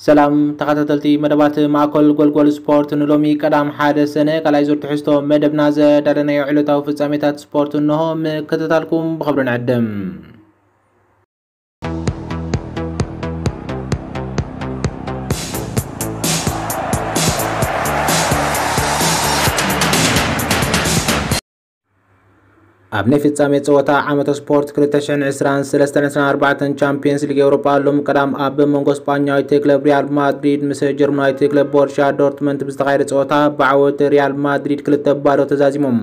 ሰላም ተኸታተልቲ መደባት ማእከል ጎልጎል ስፖርት፣ ንሎሚ ቀዳም ሓደ ሰነ ካልኣይ ዙር ትሕዝቶ መደብና ዘዳለናዮ ዕለታዊ ፍጻሜታት ስፖርት እንሆ። ምክትታልኩም ብኽብሪ ንዕድም። ኣብ ናይ ፍጻሜ ጸወታ ዓመተ ስፖርት ክልተ ሽሕን ዕስራን ሰለስተን ዕስራን ኣርባዕተን ቻምፒየንስ ሊግ ኤውሮጳ ሎም ቀዳም ኣብ መንጎ ስጳኛዊት ክለብ ሪያል ማድሪድ ምስ ጀርመናዊት ክለብ ቦርሻ ዶርትመንት ብዝተኻየደ ጸወታ ብዓወት ሪያል ማድሪድ ክልተ ባዶ ተዛዚሞም።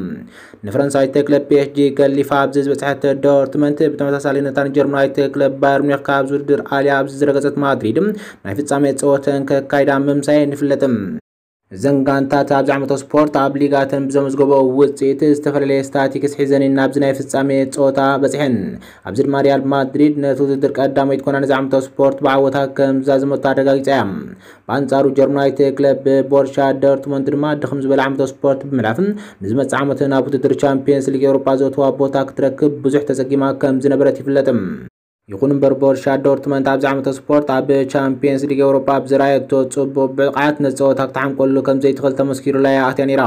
ንፈረንሳዊት ክለብ ፒ ኤስ ጂ ገሊፋ ኣብዚ ዝበጽሐት ዶርትመንት ብተመሳሳሊ ነታ ንጀርመናዊት ክለብ ባየር ሚኒክ ካብ ውድድር ኣልያ ኣብዚ ዝረገጸት ማድሪድ ናይ ፍጻሜ ጸወተን ከካይዳ ምምሳየን ይፍለጥ። እዘን ጋንታት ኣብዚ ዓመተ ስፖርት ኣብ ሊጋተን ብዘመዝገበኦ ውጽኢት ዝተፈላለየ ስታቲክስ ሒዘን ናብዚ ናይ ፍጻሜ ጸወታ በጺሐን። ኣብዚ ድማ ሪያል ማድሪድ ነቲ ውድድር ቀዳመይቲ ኮይና ነዚ ዓመተ ስፖርት ብዓወታ ከም ዝዛዘመቶ ኣረጋጊጻ እያ። ብኣንጻሩ ጀርመናዊት ክለብ ቦርሻ ዶርትሙንድ ድማ ድኽም ዝበለ ዓመተ ስፖርት ብምሕላፍ ንዝመጽእ ዓመት ናብ ውድድር ቻምፒየንስ ሊግ ኤውሮጳ ዘእትዋ ቦታ ክትረክብ ብዙሕ ተጸጊማ ከም ዝነበረት ይፍለጥ። ይኹን እምበር ቦርሻ ዶርትመንት ኣብዚ ዓመተ ስፖርት ኣብ ቻምፒየንስ ሊግ ኤውሮጳ ኣብ ዝረኣየቶ ጽቡቕ ብቕዓት ነቲ ጸወታ ክትሓምቀሉ ከም ዘይትኽእል ተመስኪሩላ እያ ኣትያ ነይራ።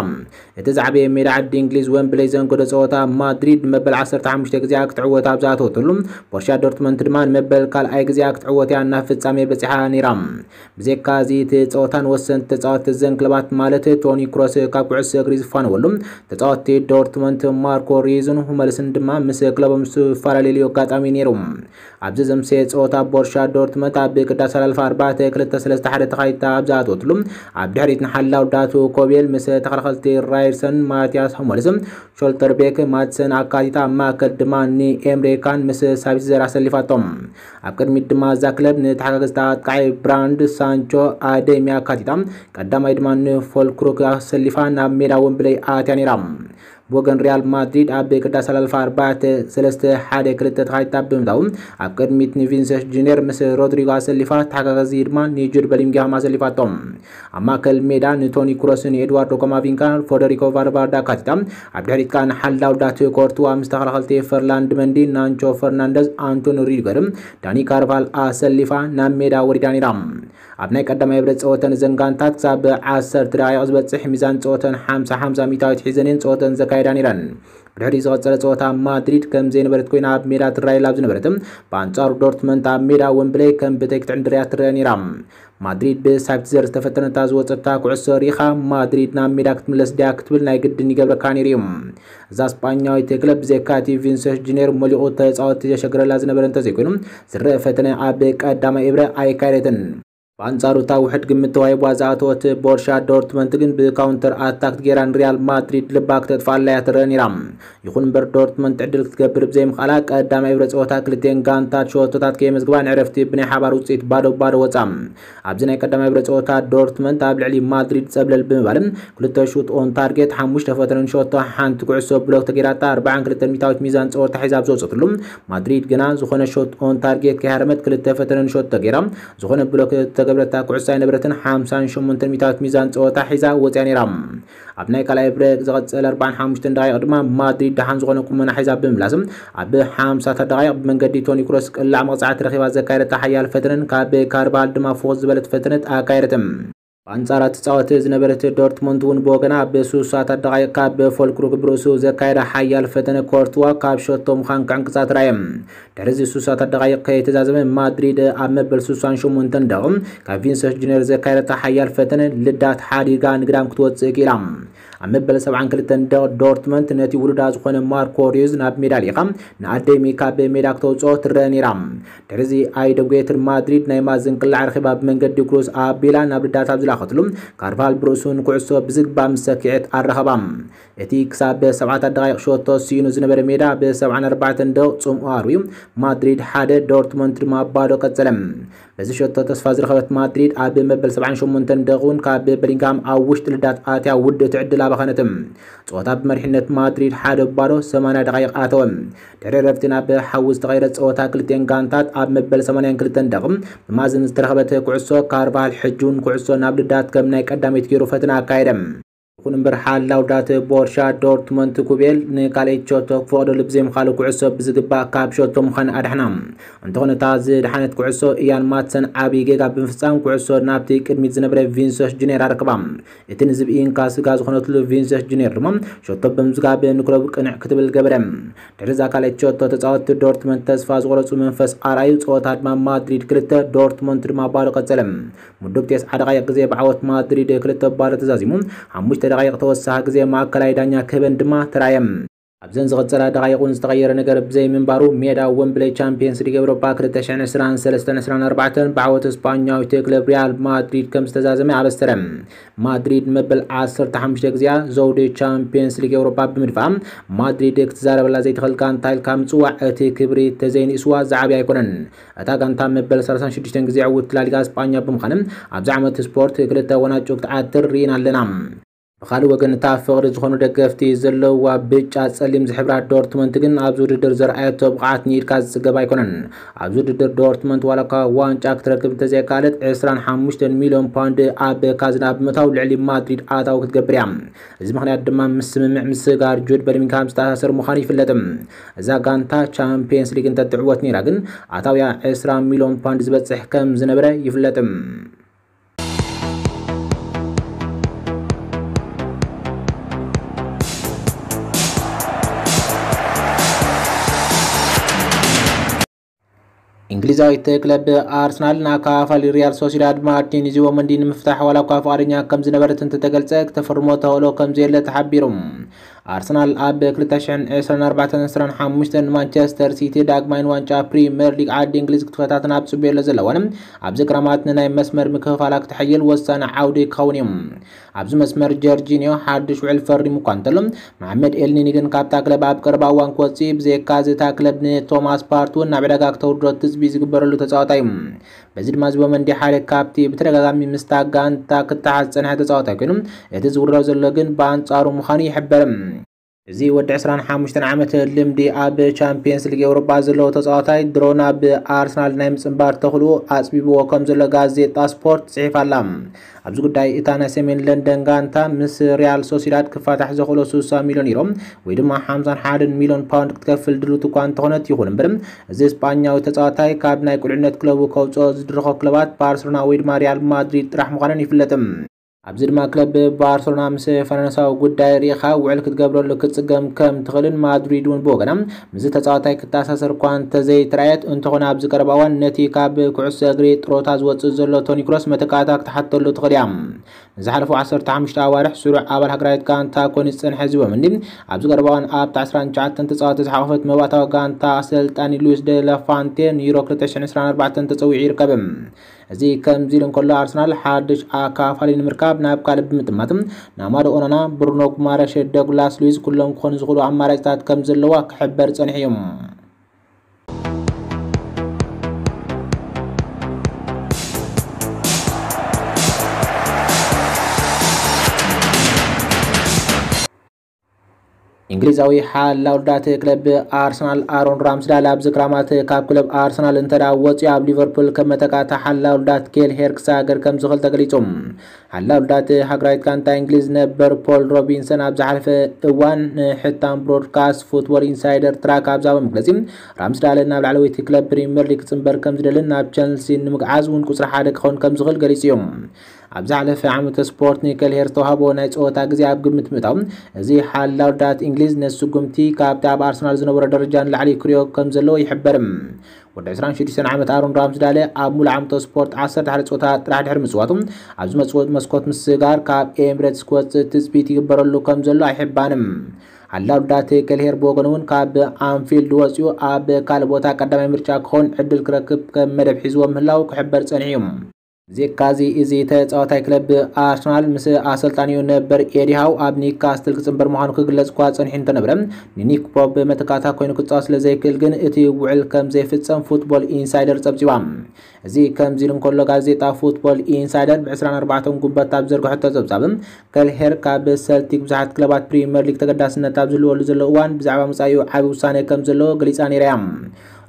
እቲ ዝዓበየ ሜዳ ዓዲ እንግሊዝ ወምብለይ ዘንገዶ ጸወታ ማድሪድ ንመበል ዓሰርተ ሓሙሽተ ግዜኣ ክትዕወት ኣብ ዝኣተወትሉ ቦርሻ ዶርትመንት ድማ ንመበል ካልኣይ ግዜኣ ክትዕወት እያ ናብ ፍጻሜ በጺሓ ነይራ። ብዘይካ እዚ እቲ ጸወታን ወሰንቲ ተጻወትቲ እዘን ክለባት ማለት ቶኒ ክሮስ ካብ ኩዕሶ እግሪ ዝፋነወሉ ተጻወትቲ ዶርትመንት ማርኮ ሪዝን ሁመልስን ድማ ምስ ክለቦም ዝፈላለየሉ ኣጋጣሚ ነይሩ። ኣብዚ ዘምሰየ ጸወታ ቦርሻ ዶርትመንት ኣብ ግዳ ኣሰላልፋ ኣርባዕተ ክልተ ሰለስተ ሓደ ተኻይታ ኣብ ዝኣተወትሉ ኣብ ድሕሪት ንሓላው ዳቱ ኮቤል ምስ ተኸላኸልቲ ራይርሰን ማቲያስ ሁመልስ ሾልተርቤክ ማትሰን ኣካቲታ ኣብ ማእከል ድማ ንኤምሬካን ምስ ሳቢትዘር ኣሰሊፋቶም። ኣብ ቅድሚት ድማ እዛ ክለብ ንተሓጋገዝቲ ኣጥቃዒ ብራንድ ሳንቾ ኣደይሚ ኣካቲታ ቀዳማይ ድማ ንፎልክሩክ ኣሰሊፋ ናብ ሜዳ ወምብለይ ኣትያ ነይራ። ብወገን ሪያል ማድሪድ ኣብ ቅዳስ ኣላልፋ ኣርባዕተ ሰለስተ ሓደ ክልተ ተኻይታ ብምእታው ኣብ ቅድሚት ንቪንሰስ ጁኒየር ምስ ሮድሪጎ ኣሰሊፋ ተሓጋጋዚ ድማ ንጁድ በሊንግሃም ኣሰሊፋቶም። ኣብ ማእከል ሜዳ ንቶኒ ክሮስ ንኤድዋርዶ ኮማቪንጋ ፎደሪኮ ቫልቫርዳ ኣካቲታ ኣብ ድሕሪት ከኣ ንሓላው ዳት ኮርትዋ ምስ ተኸላኸልቲ ፈርላንድ መንዲ ናንቾ ፈርናንደዝ ኣንቶኒ ሪዲገር ዳኒ ካርቫል ኣሰሊፋ ናብ ሜዳ ወሪዳ ነይራ። ኣብ ናይ ቀዳማይ ብረት ጸወተን እዘን ጋንታት ክሳብ ዓሰርተ ደቂቕ ዝበጽሕ ሚዛን ጸወተን ሓምሳ ሓምሳ ሚእታዊት ሒዘን እየን ጸወተን ዘካየዳ ነይረን። ብድሕሪ ዝቐጸለ ጸወታ ማድሪድ ከም ዘይነበረት ኮይና ኣብ ሜዳ ትረኣየላ ኣብ ዝነበረት ብኣንጻሩ ዶርትመንት ኣብ ሜዳ ወምብለይ ከም ብተይ ክትዕንድር እያ ትረአ ነይራ። ማድሪድ ብሳብትዘር ዝተፈተነታ ዝወጸታ ኩዕሶ ሪኻ ማድሪድ ናብ ሜዳ ክትምለስ ድያ ክትብል ናይ ግድን ይገብረካ ነይሩ እዩ። እዛ ስጳኛዊት ክለብ ብዘይካ እቲ ቪንሰስ ጁኒየር መሊቑ ተጻወትቲ ዘሸግረላ ዝነበረ እንተዘይኮይኑ ዝረአ ፈተነ ኣብ ቀዳማይ እብረ ኣይካየደትን። ብኣንጻሩ እታ ውሕድ ግምት ተዋሂባ ዝኣተወት ቦርሻ ዶርትመንት ግን ብካውንተር ኣታክት ጌራ ንሪያል ማድሪድ ልባ ክተጥፍኣላ እያ ትረአ ነይራ። ይኹን እምበር ዶርትመንት ዕድል ክትገብር ብዘይምኽኣላ ቀዳማይ እብረ ጸወታ ክልቲኤን ጋንታት ሸቶታት ከየመዝግባ ንዕረፍቲ ብናይ ሓባር ውጽኢት ባዶ ባዶ ወጻ። ኣብዚ ናይ ቀዳማይ እብረ ጸወታ ዶርትመንት ኣብ ልዕሊ ማድሪድ ጸብለል ብምባልን ክልተ ሹት ኦን ታርጌት ሓሙሽተ ፈተነን ሸቶ ሓንቲ ኩዕሶ ብሎክ ተጌራታ ኣርባዓን ክልተን ሚእታዊት ሚዛን ጸወታ ሒዛ ኣብ ዝወጸትሉ ማድሪድ ግና ዝኾነ ሾት ኦን ታርጌት ከይሃረመት ክልተ ፈተነን ሾት ተጌራ ዝኾነ ብሎክ ተገብረታ ኩዕሶ ኣይነበረትን ሓምሳን ሸሞንተን ሚእታዊት ሚዛን ጸወታ ሒዛ ወጽያ ነይራ። ኣብ ናይ ካልኣይ ብሬክ ዝቐጸለ ኣርባዓን ሓሙሽተን ደቂቕ ድማ ማድሪድ ደሓን ዝኾነ ቁመና ሒዛ ብምምላስ ኣብ ሓምሳታት ደቂቕ ብመንገዲ ቶኒ ክሮስ ቅላዕ መቕጻዕቲ ረኺባ ዘካየደታ ሓያል ፈተነን ካብ ካርባል ድማ ፍኹስ ዝበለት ፈተነት ኣካየደት። ብኣንጻራ ትጻወት ዝነበረት ዶርትሙንድ እውን ብወገና ኣብ ሱሳታት ደቂቕ ካብ ፎልክሩክ ብርእሱ ዘካየደ ሓያል ፈተነ ኮርትዋ ካብ ሸቶ ምዃን ክዕንቅጻ ተራእየ። ድሕሪ እዚ ሱሳታት ደቂቕ ከይተዛዘመ ማድሪድ ኣብ መበል ሱሳን ሸሞንተን ደቂቕ ካብ ቪንሰስ ጁኒየር ዘካየደታ ሓያል ፈተነ ልዳት ሓዲጋ ንግዳም ክትወጽእ ክኢላ። ኣብ መበል ሰብዓን ክልተን ደቂቕ ዶርትመንት ነቲ ውሉዳ ዝኾነ ማርኮ ሪዩዝ ናብ ሜዳ ልኢኻ ንኣደይሚ ካብ ሜዳ ክተውጽኦ ትረአ ነይራ። ድሕሪዚ ኣይደጉየትን ማድሪድ ናይ ማዝን ቅላዕ ረኺባ ብመንገዲ ክሩዝ ኣቢላ ናብ ልዳት ኣብ ዝለኣኸትሉ ካርቫል ብርእሱ ንኩዕሶ ብዝግባእ ምስ ሰኪዐት ኣረኸባ። እቲ ክሳብ ሰብዓታት ደቓይቕ ሸቶ ስኢኑ ዝነበረ ሜዳ ብሰብዓን ኣርባዕተን ደቂቕ ጽምኡ ኣርዩ ማድሪድ ሓደ ዶርትሙንድ ድማ ባዶ ቀጸለ። በዚ ሸቶ ተስፋ ዝረኸበት ማድሪድ ኣብ መበል ሰብዓን ሸሞንተን ደቂቕ እውን ካብ በሊንግሃም ኣብ ውሽጢ ልዳት ኣትያ ውድእቲ ዕድል ኣባኸነት። ጸወታ ብመሪሕነት ማድሪድ ሓደ ባዶ ሰማንያ ደቓይቕ ኣተወ። ድሕሪ ረፍቲ ናብ ሓዊ ዝተቐየረ ጸወታ ክልቲኤን ጋንታት ኣብ መበል ሰማንያን ክልተን ደቂቕ ብማዝን ዝተረኸበት ኩዕሶ ካርቫሃል ሕጂ እውን ኩዕሶ ናብ ልዳት ከም ናይ ቀዳመይቲ ገይሩ ፈተና ኣካየደ። ይኹን እምበር ሓላው ዳተ ቦርሻ ዶርትመንት ኩቤል ንካልኤት ሸቶ ክፈቕደሉ ብዘይምኻሉ ኩዕሶ ብዝግባእ ካብ ሸቶ ምዃን ኣድሕና። እንተኾነ እታ ዝድሓነት ኩዕሶ ኢያን ማትሰን ዓብዪ ጌጋ ብምፍጻም ኩዕሶ ናብቲ ቅድሚት ዝነበረ ቪንሰስ ጁኒየር ኣረክባ። እቲ ንዝብኢ እንካ ስጋ ዝኾነትሉ ቪንሰስ ጁኒየር ድማ ሸቶ ብምዝጋብ ንክለቡ ቅንዕ ክትብል ገበረ። ድሕሪ እዛ ካልኣይቲ ሸቶ ተጻወትቲ ዶርትመንት ተስፋ ዝቆረጹ መንፈስ ኣርኣዩ። ጸወታ ድማ ማድሪድ ክልተ ዶርትመንት ድማ ባዶ ቀጸለ። ምዱብ ተስዓ ደቓይቕ ግዜ ብዓወት ማድሪድ ክልተ ባዶ ተዛዚሙ። ሓሙሽተ ደቓይቕ ተወሳኺ ግዜ ማእከላይ ዳኛ ክህበን ድማ ተራየ። ኣብዘን ዝቐጸላ ደቓይቕ እውን ዝተቐየረ ነገር ብዘይምንባሩ ሜዳ ወምብለይ ቻምፒየንስ ሊግ ኤውሮጳ ክልተ ሽሕን ዕስራን ሰለስተን ዕስራን ኣርባዕተን ብዓወት ስጳኛዊት ክለብ ሪያል ማድሪድ ከም ዝተዛዘመ ኣበሰረ። ማድሪድ መበል ዓሰርተ ሓሙሽተ ግዜኣ ዘውዲ ቻምፒየንስ ሊግ ኤውሮጳ ብምድፋኣ ማድሪድ ክትዛረበላ ዘይትኽእል ጋንታ ኢልካ ምጽዋዕ እቲ ክብሪ ተዘይንእስዋ ዝዓብየ ኣይኮነን። እታ ጋንታ መበል ሰላሳን ሽዱሽተን ግዜ ዕውት ላሊጋ ስጳኛ ብምዃን ኣብዚ ዓመት ስፖርት ክልተ ዋንጫ ክትዓትር ርኢና ኣለና። ብኻልእ ወገን እታ ፍቕሪ ዝኾኑ ደገፍቲ ዘለዋ ብጫ ጸሊም ዝሕብራ ዶርትመንት ግን ኣብዚ ውድድር ዘርኣየቶ ብቕዓት ንኢድካ ዝጽገብ ኣይኮነን። ኣብዚ ውድድር ዶርትመንት ዋላ እኳ ዋንጫ ክትረክብ እንተዘይከኣለት ዕስራን ሓሙሽተን ሚልዮን ፓውንድ ኣብ ካዝና ብምእታው ልዕሊ ማድሪድ ኣታዊ ክትገብር እያ። እዚ ምኽንያት ድማ ምስ ስምምዕ ምስጋር ጁድ በሊንግሃም ዝተኣሳሰር ምዃኑ ይፍለጥ። እዛ ጋንታ ቻምፒየንስ ሊግ እንተትዕወት ነይራ ግን ኣታውያ ዕስራ ሚልዮን ፓውንድ ዝበጽሕ ከም ዝነበረ ይፍለጥ። እንግሊዛዊት ክለብ ኣርሰናል ንኣካፋሊ ሪያል ሶሲዳድ ማርቲን ዙቢመንዲ ንምፍታሕ ዋላ እኳ ፍቓደኛ ከም ዝነበረት እንተተገልጸ፣ ክተፈርሞ ተኽእሎ ከም ዘየለ ተሓቢሩ። ኣርሰናል ኣብ ክልተ ሽሕን ዕስራን ኣርባዕተን ዕስራን ሓሙሽተን ንማንቸስተር ሲቲ ዳግማይ ንዋንጫ ፕሪምየር ሊግ ዓዲ እንግሊዝ ክትፈታተን ኣብ ጽቡየሎ ዘለዋን ኣብዚ ክረማት ንናይ መስመር ምክፍፋላ ክተሐይል ወሳኒ ዓውዲ ክኸውን እዩ። ኣብዚ መስመር ጀርጂኒዮ ሓድሽ ውዕል ፈሪሙ እኳ እንተሎ፣ መሓመድ ኤልኒኒ ግን ካብታ ክለብ ኣብ ቀረባ እዋን ክወጽእ እዩ። ብዘይካ እዚ እታ ክለብ ንቶማስ ፓርቲ እውን ናብ ዕዳጋ ክተውርዶ ትጽቢት ዝግበረሉ ተጻዋታይ እዩ። በዚ ድማ ዙቢመንዲ ሓደ ካብቲ ብተደጋጋሚ ምስታ ጋንታ ክተሓዝ ዝጸንሐ ተጻዋታይ ኮይኑ፣ እቲ ዝውረር ዘሎ ግን ብኣንጻሩ ምዃኑ ይሕበር። እዚ ወዲ ዕስራን ሓሙሽተን ዓመት ልምዲ ኣብ ቻምፒየንስ ሊግ ኤውሮጳ ዘለዎ ተጻዋታይ ድሮ ናብ ኣርሰናል ናይ ምጽንባር ተኽእልኡ ኣጽቢብዎ ከም ዘሎ ጋዜጣ ስፖርት ጽሒፋ ኣላ። ኣብዚ ጉዳይ እታ ናይ ሰሜን ለንደን ጋንታ ምስ ሪያል ሶሲዳድ ክፋታሕ ዘኽእሎ ስሳ ሚልዮን ዩሮ ወይ ድማ ሓምሳን ሓደን ሚልዮን ፓውንድ ክትከፍል ድልውቲ እኳ እንተኾነት፣ ይኹን እምበር እዚ ስጳኛዊ ተጻዋታይ ካብ ናይ ቁልዕነት ክለቡ ከውጽኦ ዝድርኾ ክለባት ባርሰሎና ወይ ድማ ሪያል ማድሪድ ጥራሕ ምዃነን ይፍለጥ። ኣብዚ ድማ ክለብ ባርሰሎና ምስ ፈረንሳዊ ጉዳይ ርኢኻ ውዕል ክትገብረሉ ክትጽገም ከም ትኽእልን ማድሪድ እውን ብወገና ምስዚ ተጻዋታይ ክተኣሳሰር እኳ እንተዘይተራእየት፣ እንተኾነ ኣብዚ ቀረባ እዋን ነቲ ካብ ኩዕሶ እግሪ ጥሮታ ዝወጽእ ዘሎ ቶኒ ክሮስ መተካእታ ክትሓተሉ ትኽእል እያ። ንዝሓለፉ ዓሰርተ ሓሙሽተ ኣዋርሕ ስሩዕ ኣባል ሃገራዊት ጋንታ ኮይኑ ዝጸንሐ ዙቢመንዲ ኣብዚ ቀረባ እዋን ኣብታ ዕስራን ትሽዓተን ተጻወትቲ ዝሓቖፈት መባእታዊ ጋንታ ኣሰልጣኒ ሉዊስ ደ ላ ፋንቴ ንዩሮ ክልተ ሽሕን ዕስራን ኣርባዕተን ተጸዊዑ ይርከብ። እዚ ከምዚ ኢሉ እንከሎ፣ ኣርሰናል ሓድሽ ኣካፋሊ ንምርካብ ናብ ካልእ ብምጥማት ንኣማዶ ኦናና፣ ብሩኖ ጉማረሽ፣ ዶግላስ ሉዊዝ ኩሎም ክኾኑ ዝኽእሉ ኣማራጭታት ከም ዘለዋ ክሕበር ጸኒሑ እዩ። እንግሊዛዊ ሓላው ዳት ክለብ ኣርሰናል ኣሮን ራምስዳል ኣብዚ ክራማት ካብ ክለብ ኣርሰናል እንተ ደኣ ወፂኡ ኣብ ሊቨርፑል ከም መተካእታ ሓላው ዳት ኬል ሄር ክሳገር ከም ዝኽእል ተገሊጹ። ሓላው ዳት ሃገራዊት ጋንታ እንግሊዝ ነበር ፖል ሮቢንሰን ኣብ ዝሓለፈ እዋን ንሕታም ብሮድካስት ፉትቦል ኢንሳይደር ትራክ ኣብ ዝሃቦ መግለጺ፣ ራምስዳል ናብ ላዕለወይቲ ክለብ ፕሪምየር ሊግ ክጽንበር ከም ዝደልን ናብ ቸልሲ ንምግዓዝ እውን ቁጽሪ ሓደ ክኸውን ከም ዝኽእል ገሊጹ እዩ። ኣብ ዝሓለፈ ዓመተ ስፖርት ንከልሄር ዝተዋህቦ ናይ ጸወታ ግዜ ኣብ ግምት ምእታው፣ እዚ ሓላው ዳት እንግሊዝ ነቲ ስጉምቲ ካብቲ ኣብ ኣርሰናል ዝነበሮ ደረጃ ንላዕሊ ክሪኦ ከም ዘለዎ ይሕበር። ወዲ ዕስራን ሽዱሽተን ዓመት ኣሮን ራምስዳለ ኣብ ሙሉእ ዓመተ ስፖርት ዓሰርተ ሓደ ጸወታ ጥራሕ ድሕሪ ምጽዋቱ፣ ኣብ ዝመጽእ መስኮት ምስጋር ካብ ኤምሬትስ ክወጽእ ትጽቢት ይግበረሉ ከም ዘሎ ኣይሕባንን። ሓላው ዳት ከልሄር ብወገኑ እውን ካብ ኣንፊልድ ወጺኡ ኣብ ካልእ ቦታ ቀዳማይ ምርጫ ክኸውን ዕድል ክረክብ ከም መደብ ሒዝዎ ምህላው ክሕበር ጸኒሑ እዩ። ብዘይካዚ፣ እዚ ተጻዋታይ ክለብ ኣርሰናል ምስ ኣሰልጣኒኡ ነበር ኤዲ ሃው ኣብ ኒውካስትል ክጽንበር ምዃኑ ክግለጽ እኳ ጸኒሑ እንተነበረ፣ ንኒክ ፖፕ መተካእታ ኮይኑ ክጻወት ስለ ዘይክእል ግን እቲ ውዕል ከም ዘይፍጸም ፉትቦል ኢንሳይደር ጸብጺባ። እዚ ከምዚ ኢሉ እንከሎ፣ ጋዜጣ ፉትቦል ኢንሳይደር ብ ዕስራን ኣርባዕተን ጉንበት ኣብ ዘርግሐቶ ጸብጻብ፣ ከልሄር ካብ ሰልቲክ ብዙሓት ክለባት ፕሪምየር ሊግ ተገዳስነት ኣብ ዝህልወሉ ዘሎ እዋን ብዛዕባ መጻኢኡ ዓቢ ውሳነ ከም ዘለዎ ገሊጻ ነይራ እያ።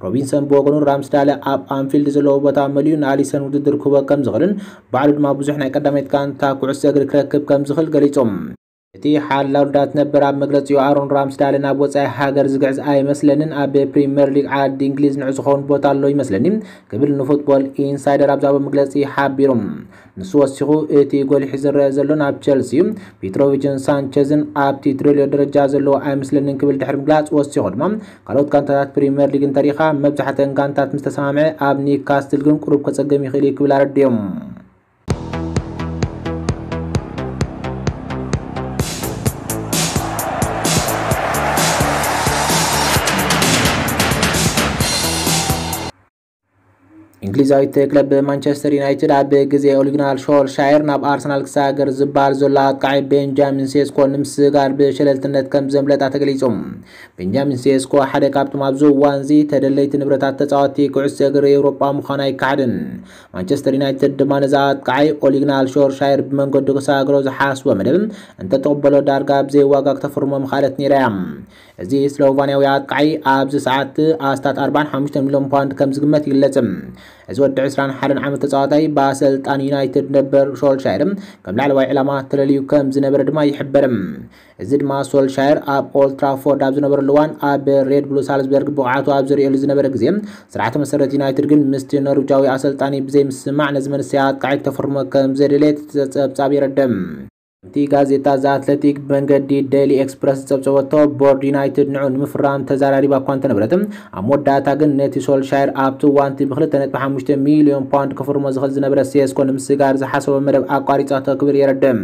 ሮቢንሰን ብወገኑ፣ ራምስዳለ ኣብ ኣንፊልድ ዘለዎ ቦታ መሊኡ ንኣሊሰን ውድድር ክህቦ ከም ዝኽእልን ባዕሉ ድማ ብዙሕ ናይ ቀዳመይቲ ጋንታ ኩዕሶ እግሪ ክረክብ ከም ዝኽእል ገሊጹ። እቲ ሓላው ዳት ነበር ኣብ መግለጺኡ፣ ኣሮን ራምስዳል ናብ ወጻኢ ሃገር ዝግዕዝ ኣይመስለንን፣ ኣብ ፕሪምየር ሊግ ዓዲ እንግሊዝ ንዑ ዝኸውን ቦታ ኣሎ ይመስለኒ ክብል ንፉትቦል ኢንሳይደር ኣብ ዝሃቦ መግለጺ ሓቢሩ። ንሱ ወሲኹ፣ እቲ ጎሊሑ ዝረአ ዘሎ ናብ ቸልሲ እዩ። ፒትሮቪችን ሳንቸዝን ኣብቲ ትደልዮ ደረጃ ዘለዎ ኣይመስለንን ክብል ድሕሪ ምግላጽ ወሲኹ ድማ፣ ካልኦት ጋንታታት ፕሪምየር ሊግ እንተሪኻ፣ መብዛሕተን ጋንታት ምስ ተሰማምዐ፣ ኣብ ኒውካስትል ግን ቁሩብ ከጸገም ይኽእል እዩ ክብል ኣረዲኦም። እንግሊዛዊት ክለብ ማንቸስተር ዩናይትድ ኣብ ግዜ ኦሊግናል ሾልሻየር ናብ ኣርሰናል ክሰጋገር ዝበሃል ዘሎ ኣጥቃዒ ቤንጃሚን ሴስኮ ንምስጋር ብሸለልትነት ከም ዘምለጣ ተገሊጹ። ቤንጃሚን ሴስኮ ሓደ ካብቶም ኣብዚ እዋን እዚ ተደለይቲ ንብረታት ተጻወትቲ ኩዕሶ እግሪ ኤውሮጳ ምዃኑ ኣይከሓድን። ማንቸስተር ዩናይትድ ድማ ነዚ ኣጥቃዒ ኦሊግናል ሾልሻየር ብመንገዱ ክሰጋግሮ ዝሓስቦ መደብ እንተተቕበሎ ዳርጋ ብዘይ ዋጋ ክተፍርሞ ምኽኣለት ነይራ እያ። እዚ ስሎቫንያዊ ኣጥቃዒ ኣብዚ ሰዓት ኣስታት ኣርባዕን ሓሙሽተን ሚልዮን ፓውንድ ከም ዝግመት ይግለጽ። እዚ ወዲ ዕስራን ሓደን ዓመት ተጻዋታይ ብኣሰልጣን ዩናይትድ ነበር ሾልሻየር ከም ላዕለዋይ ዕላማ ተለልዩ ከም ዝነበረ ድማ ይሕበር። እዚ ድማ ሶልሻየር ኣብ ኦልድ ትራፎርድ ኣብ ዝነበረሉ እዋን ኣብ ሬድ ብሉ ሳልዝበርግ ብቕዓቱ ኣብ ዝርእየሉ ዝነበረ ግዜ፣ ስርዓተ መሰረት ዩናይትድ ግን ምስቲ ኖርዊጃዊ ኣሰልጣኒ ብዘይምስምማዕ ነዚ መንእሰይ ኣጥቃዒ ክተፍርሞ ከም ዘደለየ እቲ ጸብጻብ የረድእ። እቲ ጋዜጣ ዘ ኣትለቲክ ብመንገዲ ዴይሊ ኤክስፕረስ ዝጸብጸበቶ፣ ቦርድ ዩናይትድ ንዑ ንምፍራም ተዘራሪባ እኳ እንተነበረት፣ ኣብ መወዳእታ ግን ነቲ ሶልሻየር ኣብቲ እዋንቲ ብክልተ ነጥቢ ሓሙሽተ ሚልዮን ፓውንድ ክፍርሞ ዝኽእል ዝነበረ ሴስኮ ንምስጋር ዝሓሰቦ መደብ ኣቋሪጻቶ ክብል የረድእ።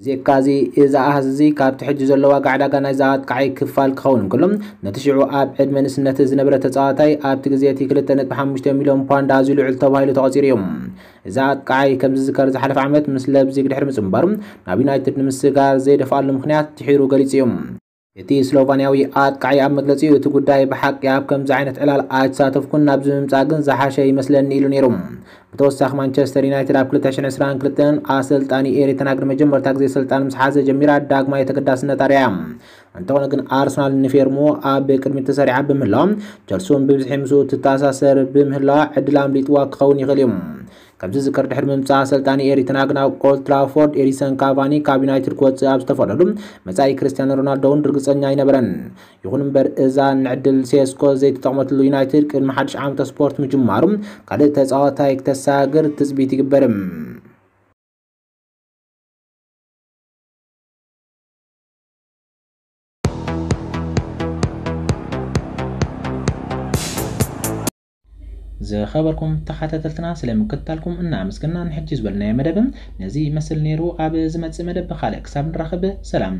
ብዘይካዚ፣ እዚ ኣሃዝ እዚ ካብቲ ሕጂ ዘሎ ዋጋ ዕዳጋ ናይዚ ኣጥቃዓይ ክፋል ክኸውን እንከሎ፣ ነቲ ሽዑ ኣብ ዕድመ ንእስነት ዝነበረ ተጻዋታይ፣ ኣብቲ ግዜ እቲ ክልተ ነጥቢ ሓሙሽተ ሚልዮን ፓውንድ ኣዝዩ ልዑል ተባሂሉ ተቖጺሩ እዩ። እዚ ኣጥቃዓይ ከም ዝዝከር ዝሓለፈ ዓመት ምስ ለብዚግ ድሕሪ ምጽንባሩ ናብ ዩናይትድ ንምስጋር ዘይደፍኣሉ ምኽንያት ድሒሩ ገሊጹ እዩ። እቲ ስሎቫንያዊ ኣጥቃዓይ ኣብ መግለጺኡ፣ እቲ ጉዳይ ብሓቂ ኣብ ከምዚ ዓይነት ዕላል ኣይተሳተፍኩን፣ ናብዚ ምምጻእ ግን ዝሓሸ ይመስለኒ ኢሉ ነይሩ። ብተወሳኺ ማንቸስተር ዩናይትድ ኣብ ክልተ ሽሕን ዕስራን ክልተን ኣሰልጣኒ ኤሪክ ተን ሃግ ንመጀመርታ ግዜ ስልጣን ምስ ሓዘ ጀሚራ ዳግማይ ተገዳስነት ኣርኣያ። እንተኾነ ግን ኣርሰናል ንፌርሞ ኣብ ቅድሚት ተሰሪዓ ብምህላዋ ቸልሲ እውን ብብዝሒ ምስኡ ትተኣሳሰር ብምህላዋ ዕድል ኣምሊጥዋ ክኸውን ይኽእል እዩ። ከምዚ ዝዝከር ድሕሪ ምምጻእ ኣሰልጣኒ ኤሪክ ተን ሃግ ናብ ኦልድ ትራፎርድ ኤዲንሰን ካቫኒ ካብ ዩናይትድ ክወጽእ ኣብ ዝተፈቕደሉ መጻኢ ክርስቲያኖ ሮናልዶ እውን ርግጸኛ ኣይነበረን። ይኹን እምበር እዛ ንዕድል ሴስኮ ዘይተጠቕመትሉ ዩናይትድ ቅድሚ ሓድሽ ዓመተ ስፖርት ምጅማሩ ካልእ ተጻዋታይ ክተሳግር ትጽቢት ይግበር። ዝኸበርኩም ተኸታተልትና ስለ ምክትታልኩም እናኣመስገና ንሕጂ ዝበልናዮ መደብ ነዚ ይመስል ነይሩ። ኣብ ዝመጽእ መደብ ብኻልእ ክሳብ ንራኸብ ሰላም።